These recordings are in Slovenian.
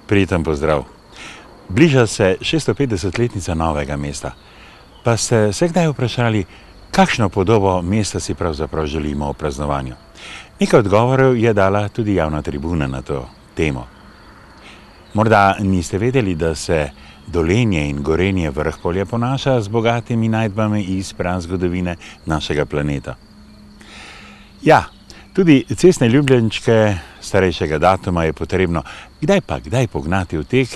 Prijeten pozdrav. Bliža se 650-letnica Novega mesta. Pa ste se kdaj vprašali, kakšno podobo mesta si pravzaprav želimo v praznovanju? Nekaj odgovorov je dala tudi javna tribuna na to temo. Morda niste vedeli, da se Dolenje in Gorenje Vrhpolje ponaša z bogatimi najdbami iz prazgodovine našega planeta. Ja, tudi cestne ljubljenčke starejšega datuma je potrebno kdaj pognati v tek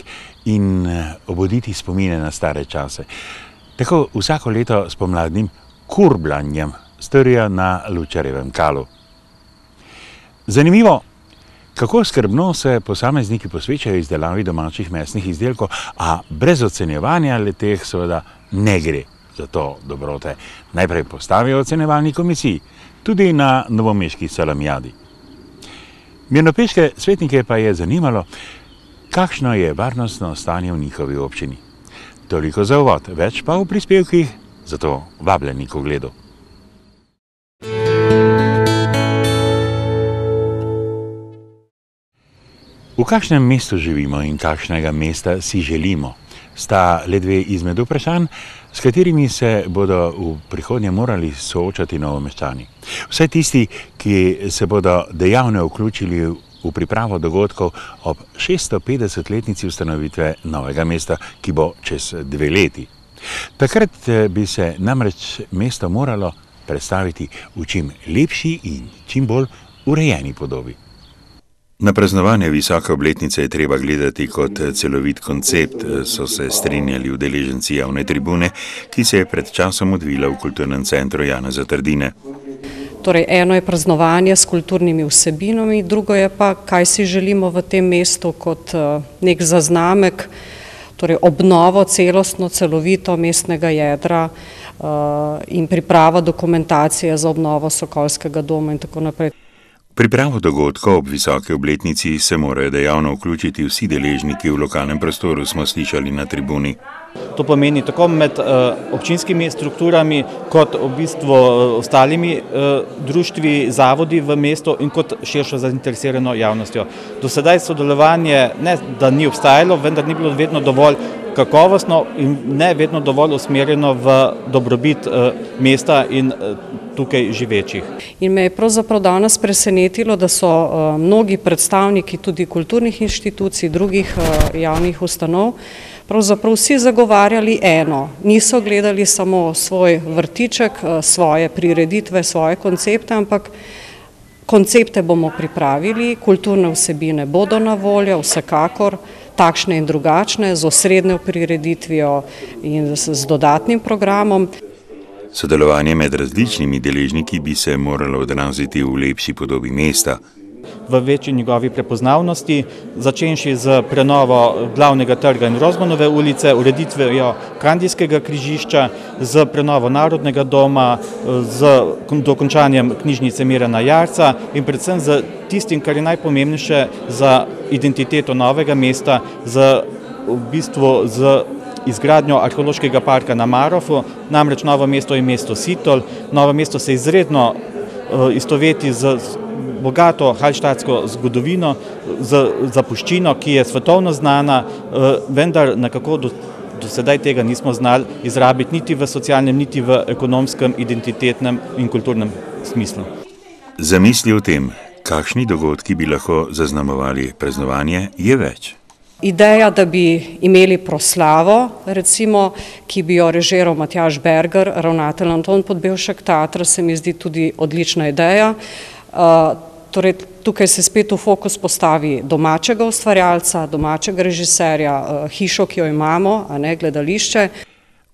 in obuditi spomine na stare čase. Tako vsako leto s pomladnim kurblanjem storijo na Lučarjevem kalu. Zanimivo, kako skrbno se posamezniki posvečajo izdelavi domačih mesnih izdelkov, a brez ocenjevanja le-teh seveda ne gre. Zato dobrote najprej postavijo ocenjevalni komisiji, tudi na novomeški salamijadi. Mirnopeške svetnike pa je zanimalo, kakšno je varnostno stanje v njihovi občini. Toliko za uvod, več pa v prispevkih, zato vabljeni k ogledu. V kakšnem mestu živimo in kakšnega mesta si želimo, sta le dve izmed vprašanj, s katerimi se bodo v prihodnje morali soočati Novomeščani. Vsaj tisti, ki se bodo dejavno vključili v pripravo dogodkov ob 650-letnici ustanovitve Novega mesta, ki bo čez 2 leti. Takrat bi se namreč mesto moralo predstaviti v čim lepši in čim bolj urejeni podobi. Na praznovanje visoke obletnice je treba gledati kot celovit koncept, so se strinjali udeleženci javne tribune, ki se je pred časom odvila v kulturnem centru Janeza Trdine. Torej, eno je praznovanje s kulturnimi vsebinami, drugo je pa, kaj si želimo v tem mestu kot nek zaznamek, torej obnovo celostno, celovito mestnega jedra in priprava dokumentacije za obnovo Sokolskega doma in tako naprej. Pripravo dogodkov ob visoke obletnici se morajo dejavno vključiti vsi deležniki v lokalnem prostoru, smo slišali na tribuni. To pomeni tako med občinskimi strukturami, kot v bistvu ostalimi društvi, zavodi v mestu in kot širšo zainteresirano javnostjo. Do sedaj sodelovanje ne da ni obstajalo, vendar ni bilo vedno dovolj kakovostno in ne vedno dovolj usmerjeno v dobrobit mesta in tukaj živečih. In me je pravzaprav danes presenetilo, da so mnogi predstavniki tudi kulturnih inštitucij, drugih javnih ustanov, pravzaprav vsi zagovarjali eno. Niso gledali samo svoj vrtiček, svoje prireditve, svoje koncepte, ampak koncepte bomo pripravili, kulturne vsebine bodo na voljo, vsekakor, takšne in drugačne, z osrednjo prireditvijo in z dodatnim programom. Sodelovanje med različnimi deležniki bi se moralo odraziti v lepši podobi mesta. V večji njegovi prepoznavnosti, začenši z prenovo glavnega trga in Rozmanove ulice, ureditvijo Kandijskega križišča, z prenovo Narodnega doma, z dokončanjem knjižnice Mirana Jarca in predvsem z tistim, kar je najpomembnejše za identiteto Novega mesta, v bistvu z izgradnjo arheološkega parka na Marofu, namreč Novo mesto je mesto Sitol. Novo mesto se izredno istoveti z bogato halštatsko zgodovino, z zapuščino, ki je svetovno znana, vendar nekako do sedaj tega nismo znali izrabiti niti v socialnem, niti v ekonomskem, identitetnem in kulturnem smislu. Zamisli o tem, kakšni dogodki bi lahko zaznamovali praznovanje, je več. Ideja, da bi imeli proslavo, recimo, ki bi jo režiral Matjaž Berger, ravnatelj Anton Podbevšek teatra, se mi zdi tudi odlična ideja. Torej, tukaj se spet v fokus postavi domačega ustvarjalca, domačega režiserja, hišo, ki jo imamo, a ne gledališče.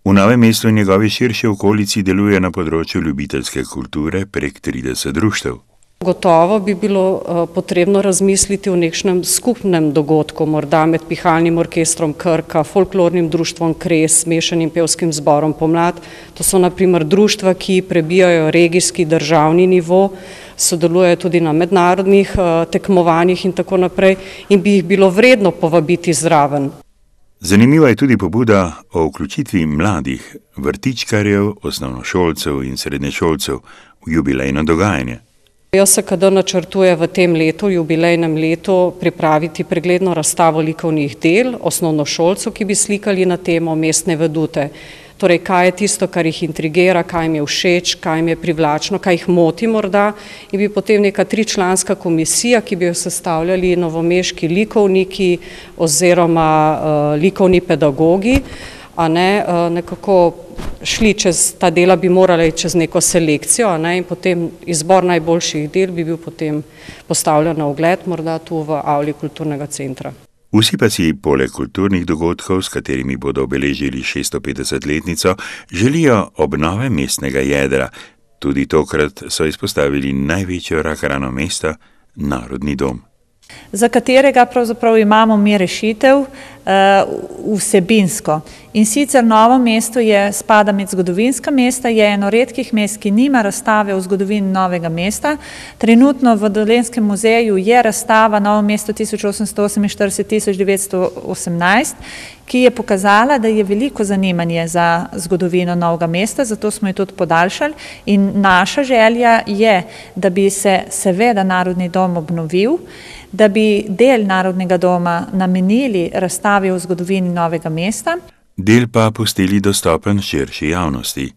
V Novem mestu in njegovi širši okolici deluje na področju ljubiteljske kulture prek 30 društev. Gotovo bi bilo potrebno razmisliti o nekšnem skupnem dogodku, morda med pihalnim orkestrom Krka, folklornim društvom Kres, mešanim pevskim zborom Pomlad. To so na primer društva, ki prebijajo regijski državni nivo, sodelujejo tudi na mednarodnih tekmovanjih in tako naprej in bi jih bilo vredno povabiti zraven. Zanimiva je tudi pobuda o vključitvi mladih vrtičkarjev, osnovnošolcev in srednješolcev v jubilejno dogajanje. JSKD načrtuje v tem letu, jubilejnem letu, pripraviti pregledno razstavo likovnih del osnovnošolcev, ki bi slikali na temo mestne vedute. Torej, kaj je tisto, kar jih intrigira, kaj jim je všeč, kaj jim je privlačno, kaj jih moti morda, in bi potem neka 3-članska komisija, ki bi jo sestavljali novomeški likovniki oziroma likovni pedagogi, a ne, nekako šli čez ta dela, bi morali čez neko selekcijo, a ne, in potem izbor najboljših del bi bil potem postavljen na ogled, morda tu v avli kulturnega centra. Vsi pa si poleg kulturnih dogodkov, s katerimi bodo obeležili 650-letnico, želijo obnove mestnega jedra. Tudi tokrat so izpostavili največjo rakrano mesta, Narodni dom. Za katerega pravzaprav imamo mi rešitev vsebinsko. In sicer Novo mesto spada med zgodovinska mesta, je eno redkih mest, ki nima razstave o zgodovini Novega mesta. Trenutno v Dolenjskem muzeju je razstava Novo mesto 1848-1918, ki je pokazala, da je veliko zanimanje za zgodovino Novega mesta, zato smo jo tudi podaljšali. In naša želja je, da bi se seveda Narodni dom obnovil, da bi del Narodnega doma namenili razstavi o zgodovini Novega mesta. Del pa pustili dostopen širši javnosti.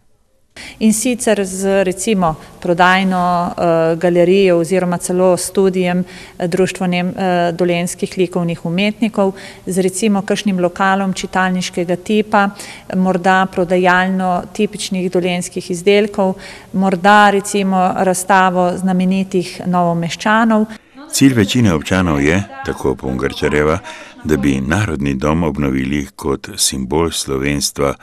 In sicer z recimo prodajno galerijo oziroma celo studijem Društva dolenjskih likovnih umetnikov, z recimo kakšnim lokalom čitalniškega tipa, morda prodajalno tipičnih dolenjskih izdelkov, morda recimo razstavo znamenitih Novomeščanov. Cilj večine občanov je, tako Pungarčarjeva, da bi Narodni dom obnovili kot simbol slovenstva.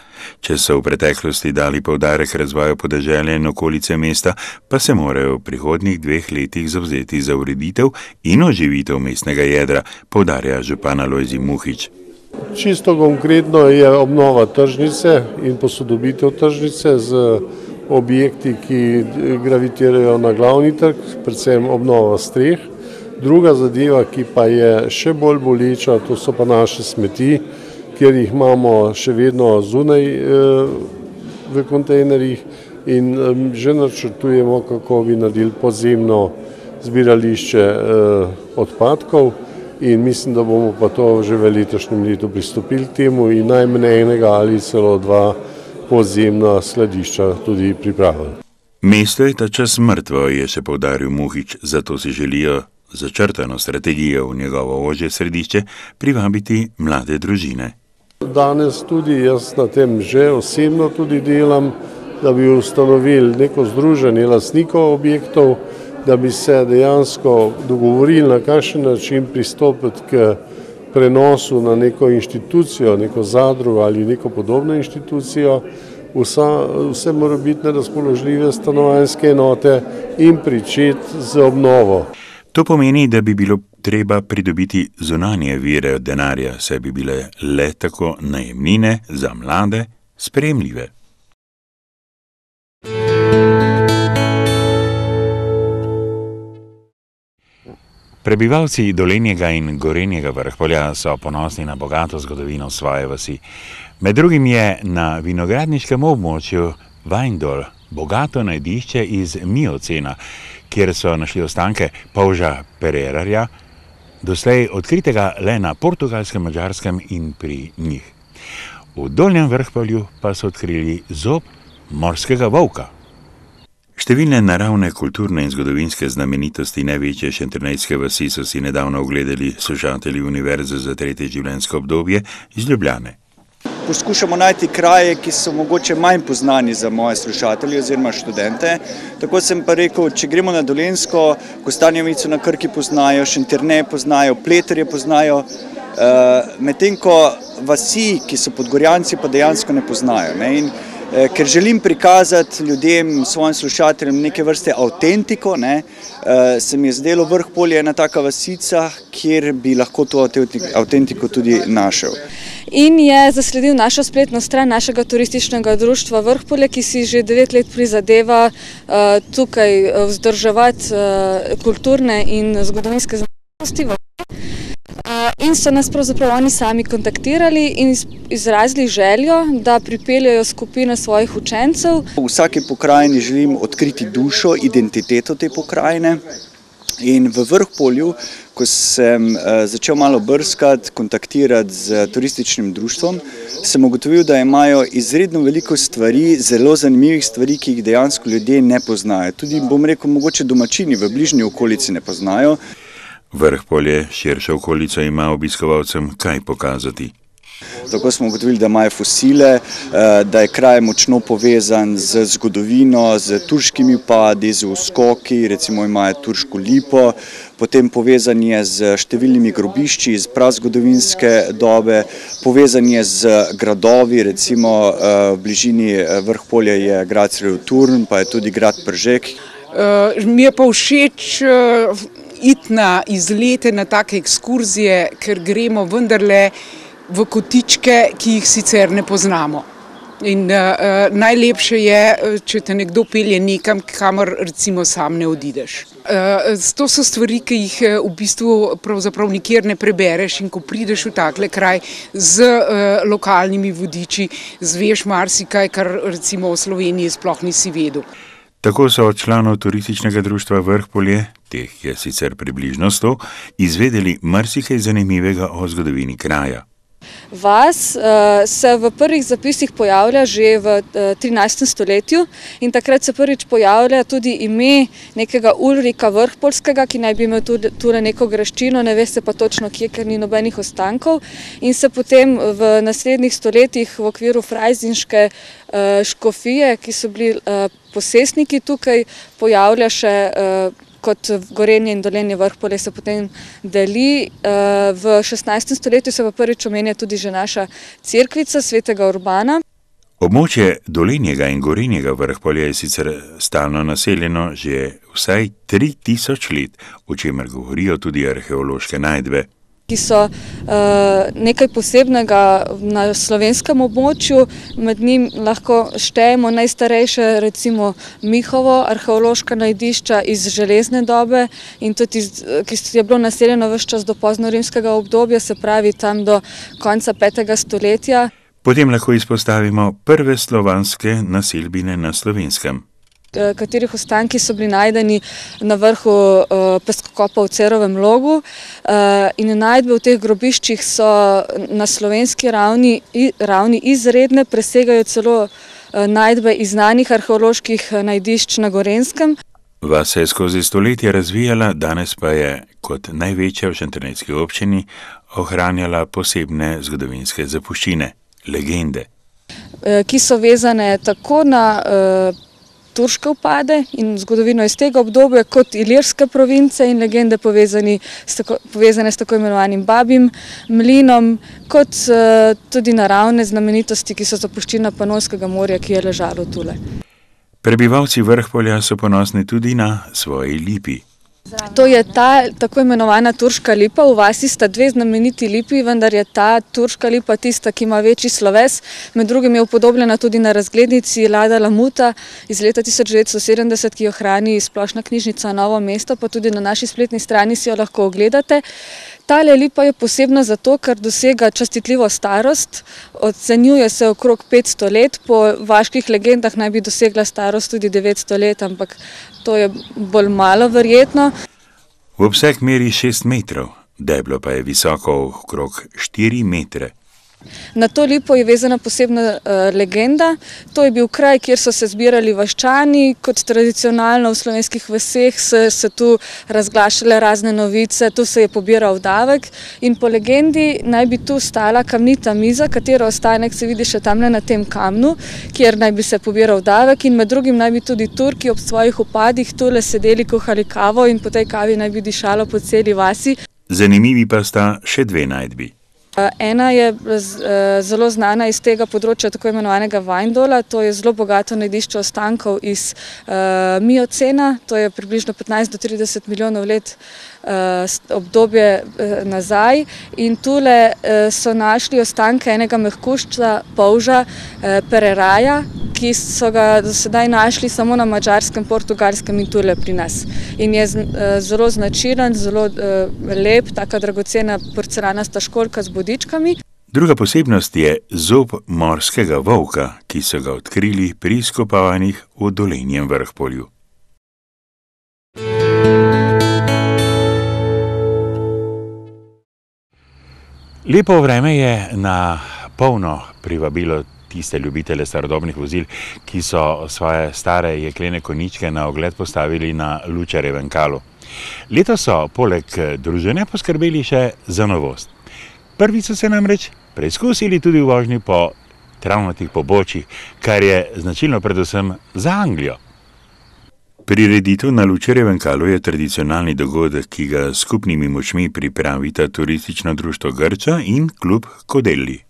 Če so v preteklosti dali poudarek razvoju podeželja in okolice mesta, pa se morajo v prihodnjih 2 letih zavzeti za ureditev in oživitev mestnega jedra, poudarja župan Alojzij Muhič. Čisto konkretno je obnova tržnice in posodobitev tržnice z objekti, ki gravitirajo na glavni trg, predvsem obnova streh. Druga zadeva, ki pa je še bolj boleča, to so pa naše smeti, kjer jih imamo še vedno zunaj v kontejnerjih in že načrtujemo, kako bi naredili podzemno zbirališče odpadkov in mislim, da bomo pa to že v letošnjem letu pristopili k temu in najmanj enega ali celo 2 podzemna skladišča tudi pripravili. Mesto je ta čas mrtvo, je še poudaril Muhič, zato si želijo začrtano strategijo v njegovo ožje središče privabiti mlade družine. Danes tudi jaz na tem že osebno tudi delam, da bi ustanovili neko združenje lastnikov objektov, da bi se dejansko dogovorili, na kakšen način pristopiti k prenosu na neko inštitucijo, neko zadrugo ali neko podobno inštitucijo, vse morebitne razpoložljive stanovanjske enote in pričeti z obnovo. To pomeni, da bi bilo treba pridobiti zunanje vire denarja, saj bi bile le tako najemnine za mlade sprejemljive. Prebivalci Dolenjega in Gorenjega Vrhpolja so ponosni na bogato zgodovino svoje vasi. Med drugim je na vinogradniškem območju Vajndol bogato najdišče iz Miocena, kjer so našli ostanke polža Pererarja, doslej odkritega le na Portugalskem, Madžarskem in pri njih. V Dolnjem Vrhpolju pa so odkrili zob morskega volka. Številne naravne, kulturne in zgodovinske znamenitosti največje šentjernejske vasi so si nedavno ogledali slušatelji Univerze za 3. življenjsko obdobje iz Ljubljane. Poskušamo najti kraje, ki so mogoče manj poznani za moje slušatelje oziroma študente. Tako sem pa rekel, če gremo na Dolenjsko, Kostanjevico na Krki poznajo, Šentjernej poznajo, Pleterje poznajo, medtem ko vasi, ki so Podgorjanci, pa dejansko ne poznajo. In ker želim prikazati ljudem, svojim slušateljem neke vrste avtentiko, se mi je zdelo Vrhpolje ena taka vasica, kjer bi lahko to avtentiko tudi našel. In je zasledil našo spletno stran našega turističnega društva Vrhpolje, ki si že 9 let prizadeva tukaj vzdrževati kulturne in zgodovinske znamenitosti. In so nas pravzaprav oni sami kontaktirali in izrazili željo, da pripeljajo skupino svojih učencev. V vsaki pokrajini želim odkriti dušo, identiteto te pokrajine. In v Vrhpolju, ko sem začel malo brskati, kontaktirati z turističnim društvom, sem ugotovil, da imajo izredno veliko stvari, zelo zanimivih stvari, ki jih dejansko ljudje ne poznajo. Tudi, bom rekel, mogoče domačini v bližnji okolici ne poznajo. Vrhpolje, širša okolica, ima obiskovalcem kaj pokazati. Tako smo ugotovili, da imajo fosile, da je kraj močno povezan z zgodovino, z turškimi vpadi, z uskoki, recimo imajo turško lipo, potem povezan je z številnimi grobišči iz prazgodovinske dobe, povezan je z gradovi, recimo v bližini Vrhpolja je grad Sredoturn, pa je tudi grad Pržek. Mi je pa všeč iti na izlete, na take ekskurzije, ker gremo vendarle v kotičke, ki jih sicer ne poznamo. In najlepše je, če te nekdo pelje nekam, kamor recimo sam ne odideš. To so stvari, ki jih v bistvu pravzaprav nikjer ne prebereš, in ko prideš v takle kraj z lokalnimi vodiči, zveš marsikaj, kar recimo v Sloveniji sploh nisi vedel. Tako so od članov turističnega društva Vrhpolje, teh je sicer približno 100, izvedeli marsikaj zanimivega o zgodovini kraja. Vas se v prvih zapisih pojavlja že v 13. stoletju in takrat se prvič pojavlja tudi ime nekega Ulrika Vrhpolskega, ki naj bi imel tule neko graščino, ne ve se pa točno kje, ker ni nobenih ostankov, in se potem v naslednjih stoletjih v okviru frajzinške škofije, ki so bili posestniki tukaj, pojavlja še kot Gorenje in Dolenje Vrhpolje se potem deli. V 16. stoletju se pa prvič omenja tudi že naša cerkvica svetega Urbana. Območje Dolenjega in Gorenjega Vrhpolja je sicer stalno naseljeno že vsaj 3000 let, o čemer govorijo tudi arheološke najdbe, ki so nekaj posebnega na slovenskem območju. Med njim lahko štejemo najstarejše, recimo Mihovo, arheološka najdišča iz železne dobe in tudi, ki je bilo naseljeno ves čas do poznorimskega obdobja, se pravi tam do konca 5. stoletja. Potem lahko izpostavimo prve slovanske naselbine na Slovenskem, katerih ostanki so bili najdeni na vrhu peskokopa v Cerovem Logu, in najdbe v teh grobiščih so na slovenski ravni izredne, presegajo celo najdbe iz znanih arheoloških najdišč na Gorenjskem. Vas se je skozi stoletja razvijala, danes pa je kot največja v Šentjernejski občini ohranjala posebne zgodovinske zapuščine, legende, ki so vezane tako na turške vpade in zgodovino iz tega obdobja, kot ilirske province in legende povezane s tako imenovanim Babjim mlinom, kot tudi naravne znamenitosti, ki so zapuščina Panonskega morja, ki je ležalo tule. Prebivalci Vrhpolja so ponosni tudi na svoji lipi. To je ta tako imenovana turška lipa. V vasi sta dve znameniti lipi, vendar je ta turška lipa tista, ki ima večji sloves. Med drugim je upodobljena tudi na razglednici Lada Lamuta iz leta 1970, ki jo hrani Splošna knjižnica Novo mesto, pa tudi na naši spletni strani si jo lahko ogledate. Tale lipa je posebna zato, ker dosega častitljivo starost, ocenjuje se okrog 500 let, po vaških legendah naj bi dosegla starost tudi 900 let, ampak to je bolj malo verjetno. V obseg meri 6 metrov, deblo pa je visoko okrog 4 metre. Na to lipo je vezana posebna legenda. To je bil kraj, kjer so se zbirali vaščani, kot tradicionalno v slovenskih vaseh se tu razglašale razne novice, tu se je pobiral davek in po legendi naj bi tu stala kamnita miza, katero ostanek se vidi še tamle na tem kamnu, kjer naj bi se pobiral davek, in med drugim naj bi tudi Turki ob svojih upadih tule sedeli, kuhali kavo in po tej kavi naj bi dišalo po celi vasi. Zanimivi pa sta še dve najdbi. Ena je zelo znana iz tega področja tako imenovanega Vajndola, to je zelo bogato najdišče ostankov iz miocena, to je približno 15 do 30 milijonov let obdobje nazaj in tule so našli ostanke enega mehkužca polža pereraja, ki so ga do sedaj našli samo na Madžarskem, Portugalskem in tule pri nas. In je zelo značilen, zelo lep, taka dragocena porcelanasta školjka z bodičkami. Druga posebnost je zob morskega volka, ki so ga odkrili pri izkopavanjih v Dolenjem Vrhpolju. Lepo vreme je na polno privabilo tiste ljubitele starodobnih vozil, ki so svoje stare jeklene konjičke na ogled postavili na Lučarjevem kalu. Letos so poleg druženja poskrbeli še za novost. Prvi so se namreč preizkusili tudi v vožnji po travnatih pobočjih, kar je značilno predvsem za Anglijo. Prireditev na Lučarjevem kalu je tradicionalni dogodek, ki ga skupnimi močmi pripravita turistično društvo Grča in klub Kodelli.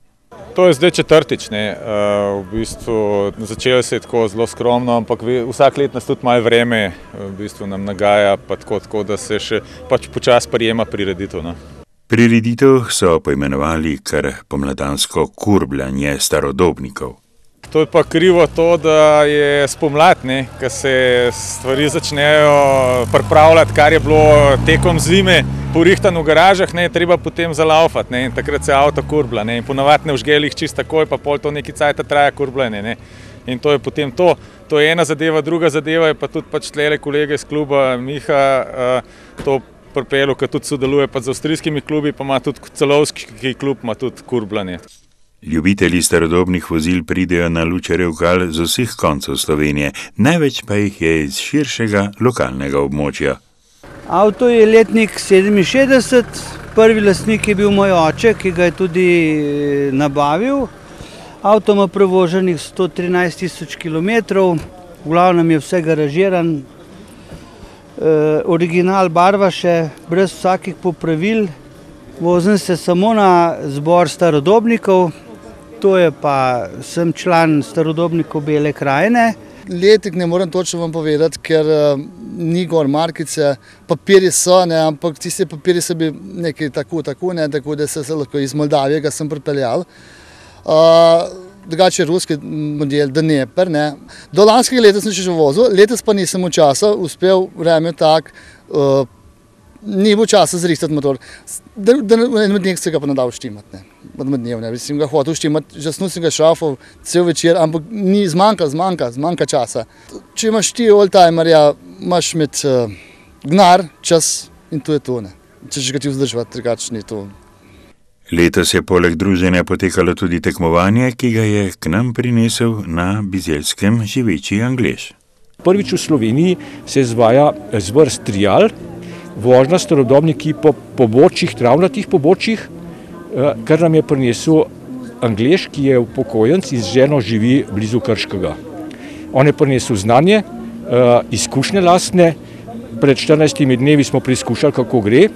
To je zdaj četrtič, v bistvu začelo se je tako zelo skromno, ampak vsak let nas tudi malo vreme v bistvu nam nagaja, pa tako, da se še pač počasi prijema prireditev. Prireditev so poimenovali kar pomladansko kurbljanje starodobnikov. To je pa krivo to, da je spomlad, ko se stvari začnejo pripravljati, kar je bilo tekom zime porihtan v garažah, treba potem zalaufati, in takrat se avto kurblja, in ponavadi ne vžgeli jih čisto takoj, pa pol to neki cajt traja kurbljanje, in to je potem to. To je ena zadeva, druga zadeva je pa tudi pač tlele kolege iz kluba Miha to pripelil, ki tudi sodeluje pa z avstrijskimi klubi, pa ima tudi celovski klub, ima tudi kurbljanje. Ljubitelji starodobnih vozil pridejo na Lučarjev kal z vseh koncev Slovenije, največ pa jih je iz širšega lokalnega območja. Avto je letnik 67, prvi lastnik je bil moj oče, ki ga je tudi nabavil. Avto ima prevoženih 113 000 kilometrov, v glavnem je vse garažiran, original barva še, brez vsakih popravil. Vozim se samo na zbor starodobnikov, to je pa, sem član starodobnikov Bele krajine. Letnik ne morem točno vam povedati, ker ni gor markice, papirji so, ampak tisti papirji so bili nekaj tako, da se lahko iz Moldavije ga sem pripeljal. Drugače je ruski model Dnepr. Do lanskega leta sem še vozil, letos pa nisem v časa uspel vreme tak, ni bilo časa zrihtati motor. En dneh se ga pa nadal štimati, sem ga hotel štimati, žasno sem ga šrafal cel večer, ampak ni zmanjka časa. Če imaš ti oldtimerja, imaš med gnar, čas in to je to. Če ga ti vzdržati, drugače ni to. Letos je poleg druženja potekalo tudi tekmovanje, ki ga je k nam prinesel na Bizeljskem živeči Anglež. Prvič v Sloveniji se izvaja zvrst trial, vožnja starodobniki po pobočjih, travnatih pobočjih, kar nam je prinesel Anglež, ki je upokojenec in z ženo živi blizu Krškega. On je prinesel znanje, izkušnje lastne, pred 14 dnevi smo preizkušali, kako gre.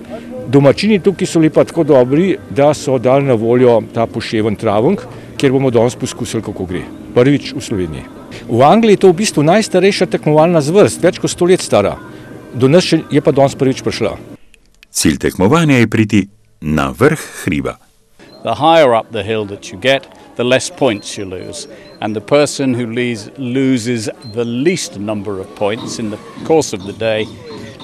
Domačini tukaj so lepa tako dobri, da so dali na voljo ta poševen travenk, kjer bomo danes poskusili, kako gre. Prvič v Sloveniji. V Angliji je to v bistvu najstarejša tekmovalna zvrst, več kot 100 let stara. Do nas je pa danes prvič prišla. Cilj tekmovanja je priti na vrh hriba. The higher up the hill that you get, the less points you lose. And the person who loses the least number of points in the course of the day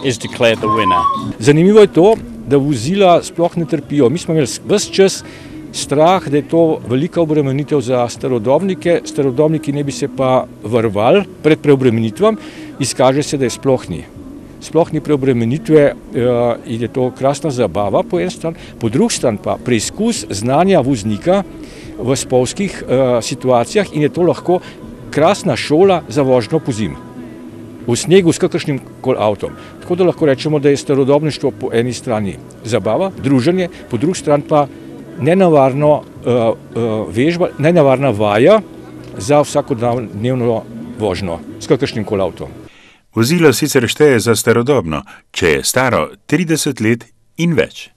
is declared the winner. Zanimivo je to, da vozila sploh ne trpijo. Mi smo imeli ves čas strah, da je to velika obremenitev za starodobnike. Starodobniki ne bi se pa varovali pred preobremenitvam. Izkaže se, da je sploh ni. Sploh ni preobremenitve in je to krasna zabava po en stran. Po drugi stran pa preizkus znanja voznika v spolskih situacijah in je to lahko krasna šola za vožnjo po zimi. V snegu s kakršnim koli avtom. Tako da lahko rečemo, da je starodobništvo po eni strani zabava, druženje, po drugi strani pa nenavarno vežba, nenavarna vaja za vsakodnevno vožnjo s kakršnim koli avtom. Vozilo sicer šteje za starodobno, če je staro 30 let in več.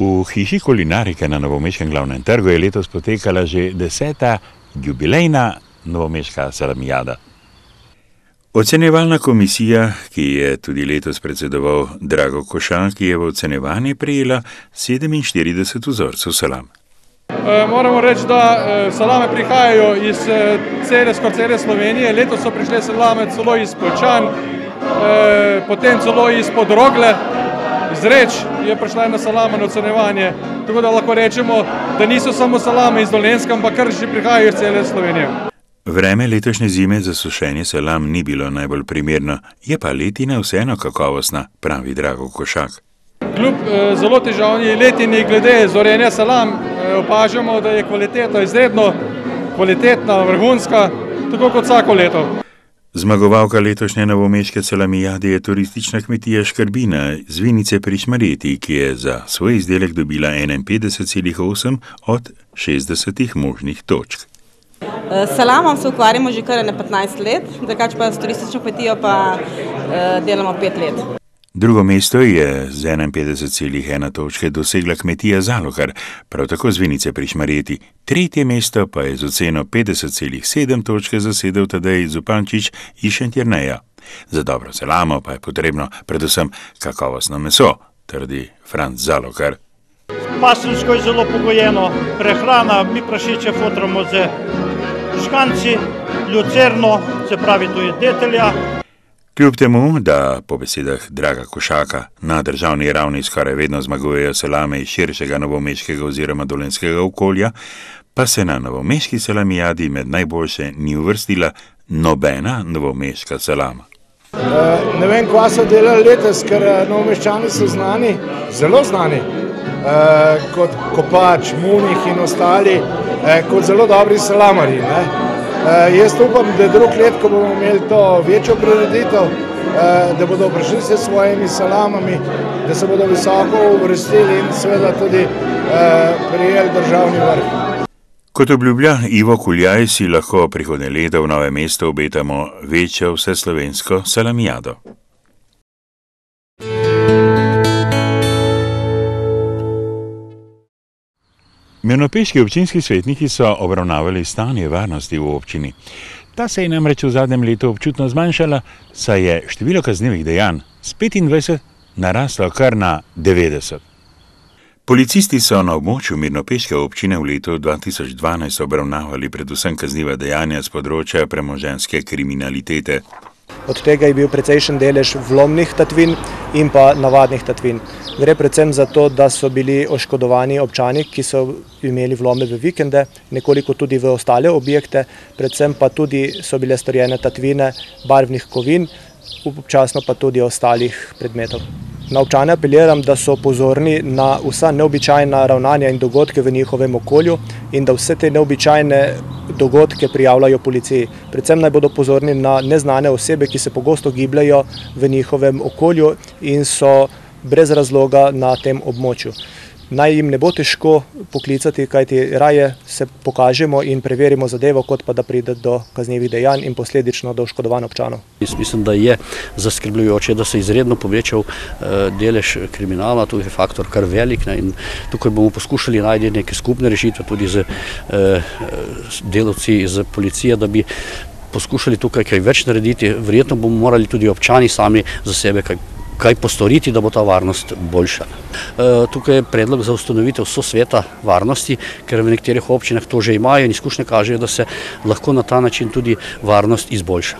V hiši kulinarike na Novomeškem glavnem trgu je letos potekala že 10. jubilejna novomeška salamijada. Ocenjevalna komisija, ki je tudi letos predsedoval Drago Košak, je v ocenjevanje prejela 47 vzorcev salam. Moramo reči, da salame prihajajo iz skoraj cele Slovenije. Letos so prišle salame celo iz Poljčan, potem celo izpod Rogle. Iz Reč je prišla ena salama na ocenjevanje, tako da lahko rečemo, da niso samo salame iz Dolenjska, ampak kar že prihajajo iz cele Slovenije. Vreme letošnje zime za sušenje salam ni bilo najbolj primerno, je pa letina vseeno kakovostna, pravi Drago Košak. Kljub zelo težavni letini glede zorenja salam opažamo, da je kvaliteta izredno kvalitetna, vrhunska, tako kot vsako leto. Zmagovalka letošnje novomeške salamijade je turistična kmetija Škrbina z Vinice pri Šmarjeti, ki je za svoj izdelek dobila 51,8 od 60 možnih točk. S salamom se ukvarjamo že kar 15 let, drugače pa s turistično kmetijo pa delamo 5 let. Drugo mesto je z 51,1 točke dosegla kmetija Zalokar, prav tako z Vinice pri Šmarjeti. Tretje mesto pa je z oceno 50,7 točke zasedel Tadej Zupančič iz Šentjerneja. Za dobro salamo pa je potrebno predvsem kakovostno meso, trdi Franc Zalokar. Pasemsko je zelo pogojeno, prehrana, mi prašiče fotramo z žganci, lucerno, se pravi to je detelja. Kljub temu, da po besedah Draga Košaka na državni ravni skoraj vedno zmagujejo salame iz širšega novomeškega oziroma dolenjskega okolja, pa se na novomeški salamijadi med najboljše ni uvrstila nobena novomeška salama. Ne vem, kva so delali letos, ker novomeščani so znani, zelo znani, kot Kopač, Munih in ostali, kot zelo dobri salamarji. Jaz upam, da drug let, ko bomo imeli to večjo prireditev, da bodo prišli s svojimi salamami, da se bodo visoko uvrstili in seveda tudi prijeli državni vrh. Kot obljublja Ivo Kuljaj, si lahko prihodnje leto v Novem mestu obetamo večjo vseslovensko salamijado. Mirnopeški občinski svetniki so obravnavali stanje varnosti v občini. Ta se je namreč v zadnjem letu občutno zmanjšala, saj je število kaznivih dejanj s 25 naraslo kar na 90. Policisti so na območju Mirnopeške občine v letu 2012 obravnavali predvsem kazniva dejanja z področja premoženjske kriminalitete. Od tega je bil precejšen delež vlomnih tatvin in pa navadnih tatvin. Gre predvsem za to, da so bili oškodovani občani, ki so imeli vlome v vikende, nekoliko tudi v ostale objekte, predvsem pa tudi so bile storjene tatvine barvnih kovin, občasno pa tudi ostalih predmetov. Na občane apeliram, da so pozorni na vsa neobičajna ravnanja in dogodke v njihovem okolju in da vse te neobičajne dogodke prijavljajo policiji. Predvsem naj bodo pozorni na neznane osebe, ki se pogosto gibljajo v njihovem okolju in so brez razloga na tem območju. Naj jim ne bo težko poklicati, kajti raje se pokažemo in preverimo zadevo, kot pa da pride do kaznivih dejanj in posledično do oškodovanj občanov. Jaz mislim, da je zaskrbljujoče, da se je izredno povečal delež kriminala, tu je faktor kar velik in tukaj bomo poskušali najti neke skupne rešitve tudi z delavci iz policije, da bi poskušali tukaj kaj več narediti. Verjetno bomo morali tudi občani sami za sebe kaj postoriti, da bo ta varnost boljša. Tukaj je predlog za ustanovitev sosveta varnosti, ker v nekaterih občinah to že imajo in izkušnje kažejo, da se lahko na ta način tudi varnost izboljša.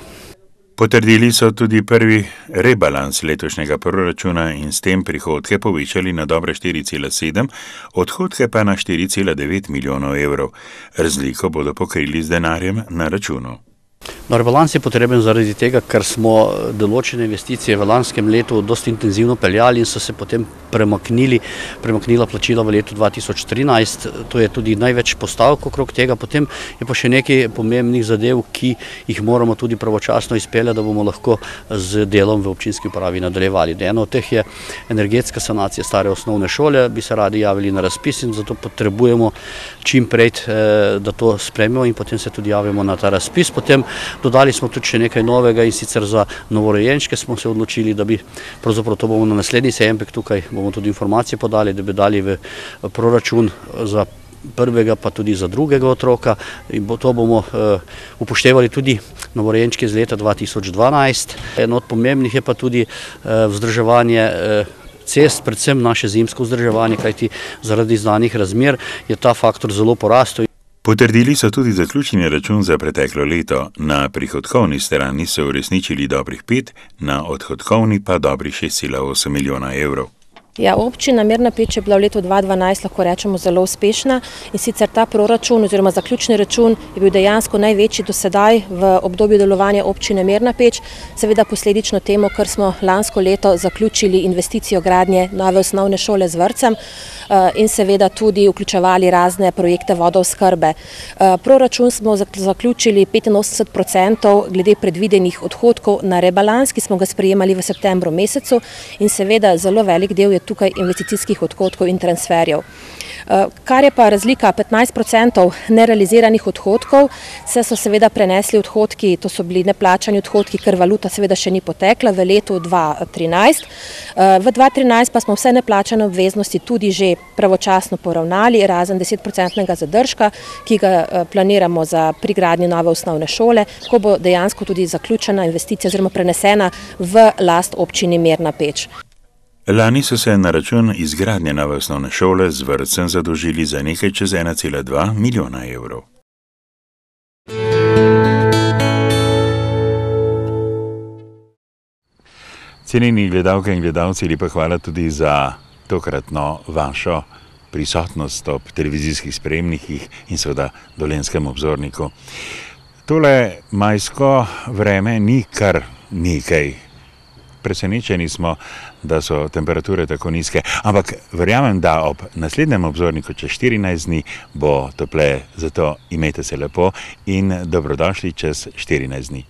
Potrdili so tudi prvi rebalans letošnjega proračuna in s tem prihodke povečali na dobre 4,7, odhodke pa na 4,9 milijonov evrov. Razliko bodo pokrili z denarjem na računu. Rebalans je potreben zaradi tega, ker smo določene investicije v lanskem letu dosti intenzivno peljali in so se potem premaknila plačila v letu 2013. To je tudi največ postavk okrog tega. Potem je pa še nekaj pomembnih zadev, ki jih moramo tudi pravočasno izpeljati, da bomo lahko z delom v občinski upravi nadaljevali. Eno od teh je energetska sanacija stare osnovne šole, bi se radi javili na razpis in zato potrebujemo čim prej, da to spremimo in potem se tudi javimo na ta razpis. Potem Dodali smo tudi še nekaj novega, in sicer za novorojenčke smo se odločili, da bi, pravzaprav to bomo na naslednji seji MPEK, tukaj bomo tudi informacije podali, da bi dali v proračun za prvega pa tudi za drugega otroka, in to bomo upoštevali tudi novorojenčke iz leta 2012. Eno od pomembnih je pa tudi vzdrževanje cest, predvsem naše zimsko vzdrževanje, kajti zaradi znanih razmer je ta faktor zelo porastel. Potrdili so tudi zaključni račun za preteklo leto. Na prihodkovni strani so uresničili dobrih 5, na odhodkovni pa dobrih 6,8 milijona evrov. Ja, občina Mirna Peč je bila v letu 2012, lahko rečemo, zelo uspešna, in sicer ta proračun oziroma zaključni račun je bil dejansko največji do sedaj v obdobju delovanja občine Mirna Peč, seveda posledično temu, ker smo lansko leto zaključili investicijo gradnje nove osnovne šole z vrtcem in seveda tudi vključevali razne projekte vodooskrbe. Proračun smo zaključili 85% glede predvidenih odhodkov na rebalans, ki smo ga sprejemali v septembru mesecu, in seveda zelo velik del je tukaj investicijskih odhodkov in transferjev. Kar je pa razlika 15% nerealiziranih odhodkov, se so seveda prenesli odhodki, to so bili neplačani odhodki, ker valuta seveda še ni potekla v letu 2013. V 2013 pa smo vse neplačane obveznosti tudi že pravočasno poravnali, razen 10% zadržka, ki ga planiramo za prigradnjo nove osnovne šole, ko bo dejansko tudi zaključena investicija oziroma prenesena v last občini Mirna Peč. Lani so se na račun izgradnje nove osnovne šole z vrtcem zadolžili za nekaj čez 1,2 milijona evrov. Cenjeni gledalke in gledalci, lepa hvala tudi za tokratno vašo prisotnost ob televizijskih sprejemnikih in seveda Dolenjskem obzorniku. Tole majsko vreme ni kar nekaj. Presenečeni smo, da so temperature tako nizke, ampak verjamem, da ob naslednjem obzorniku čez 14 dni bo topleje, zato imejte se lepo in dobrodošli čez 14 dni.